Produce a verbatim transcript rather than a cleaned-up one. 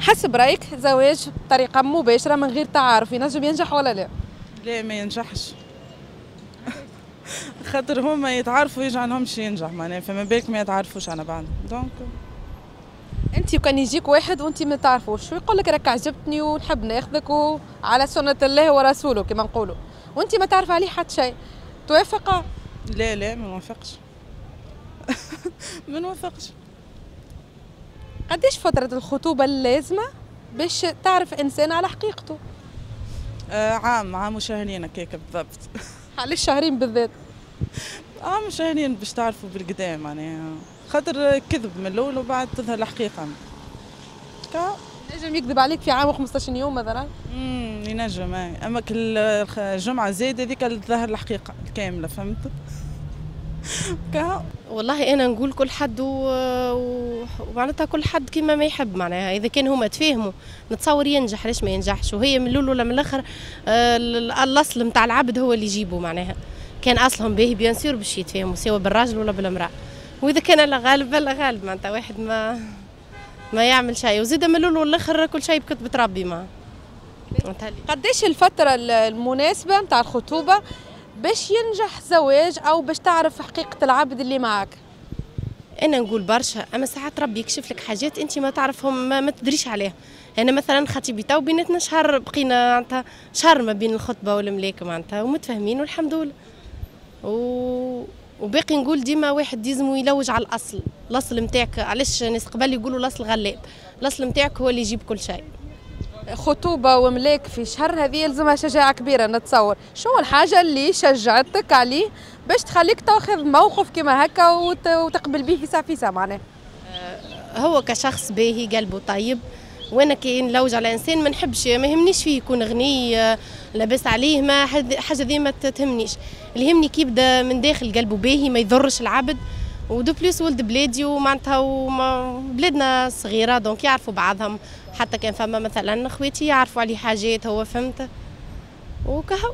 حسب رايك زواج بطريقة مباشرة من غير تعارف ينجم ينجح ولا لا؟ لا، ما ينجحش، خاطر هما يتعرفوا يجعلهمش ينجح معناها، فما بالك ما يتعرفوش على بعض donc. انت كان يجيك واحد وانت ما تعرفوش ويقول لك راك عجبتني ونحب ناخذك وعلى سنة الله ورسوله كما نقولوا، وانت ما تعرف عليه حتى شيء، توافق؟ لا لا، ما نوافقش، ما نوافقش. قديش فترة الخطوبة اللازمة باش تعرف إنسان على حقيقته؟ آه عام، عام وشهرين هكاك بالضبط. علاش شهرين بالذات؟ عام وشهرين باش تعرفوا بالقدا معناها، خاطر كذب من الاول وبعد تظهر الحقيقة. كا ينجم يكذب عليك في عام وخمسطاش يوم مثلا؟ امم ينجم، اما كل جمعه زايدة هذيك تظهر الحقيقة الكامله، فهمت؟ كا والله انا نقول كل حد و... ومعناتها كل حد كيما ما يحب معناها، اذا كان هما تفاهموا نتصور ينجح، علاش ما ينجحش؟ وهي من الاول ولا من الاخر آه، الاصل نتاع العبد هو اللي يجيبه معناها، كان اصلهم باهي bien sûr باش يتفاهموا سواء بالراجل ولا بالمراه، واذا كان الله غالب الله غالب، معناتها واحد ما ما يعمل شيء، وزيد من الاول والاخر كل شيء بكتبة ربي ما. قديش الفترة المناسبة نتاع الخطوبة باش ينجح زواج او باش تعرف حقيقة العبد اللي معك؟ انا نقول برشا، اما ساعات ربي يكشف لك حاجات انت ما تعرفهم، ما, ما تدريش عليها. انا مثلا خطيبي تو بيناتنا شهر، بقينا معناتها شهر ما بين الخطبة والملاك معناتها، ومتفاهمين والحمد لله. و... وباقي نقول ديما واحد يلزم يلوج على الاصل، الاصل نتاعك. علاش الناس قبل يقولوا الاصل غلاب؟ الاصل نتاعك هو اللي يجيب كل شيء. خطوبة وملاك في شهر هذه يلزمها شجاعة كبيرة نتصور. شو الحاجة اللي شجعتك عليه باش تخليك تاخذ موقف كما هكا وتقبل به في ساعة معناه؟ آه، هو كشخص باهي، قلبه طيب، وانا كي نلوج على انسان ما نحبش، ما يهمنيش فيه يكون غني آه، لاباس عليه، ما حاجة ذي ما تهمنيش. اللي يهمني كي يبدا من داخل قلبه باهي، ما يضرش العبد، و de plus ولد بلادي، ومعناتها بلادنا صغيرة donc يعرفوا بعضهم، حتى كان فما مثلا خواتي يعرفوا عليه حاجات هو، فهمت؟ وكهو.